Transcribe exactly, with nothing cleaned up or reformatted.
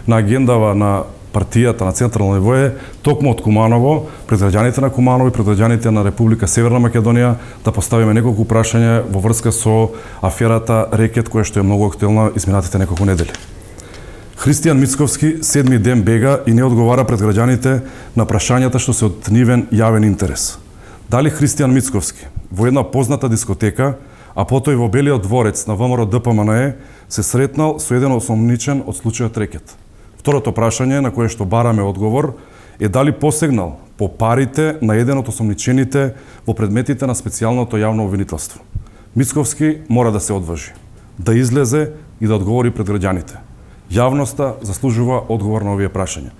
на агендава на партијата на централно ниво е токму од Куманово, пред граѓаните на Куманово и пред граѓаните на Република Северна Македонија да поставиме неколку прашања во врска со аферата Рекет, која што е многу актуелна изминатите неколку недели. Христијан Мицковски седми ден бега и не одговара пред граѓаните на прашањата што се од нивен јавен интерес. Дали Христијан Мицковски во една позната дискотека, а потоа и во Белиот дворец на ВМРО Д П М Н Е се сретнал со еден осомничен од случајот Рекет? Второто прашање на кое што бараме одговор е дали посегнал по парите на еден од осомничените во предметите на специјалното јавно обвинителство. Мицковски мора да се одважи, да излезе и да одговори пред граѓаните. Јавноста заслужува одговор на овие прашања.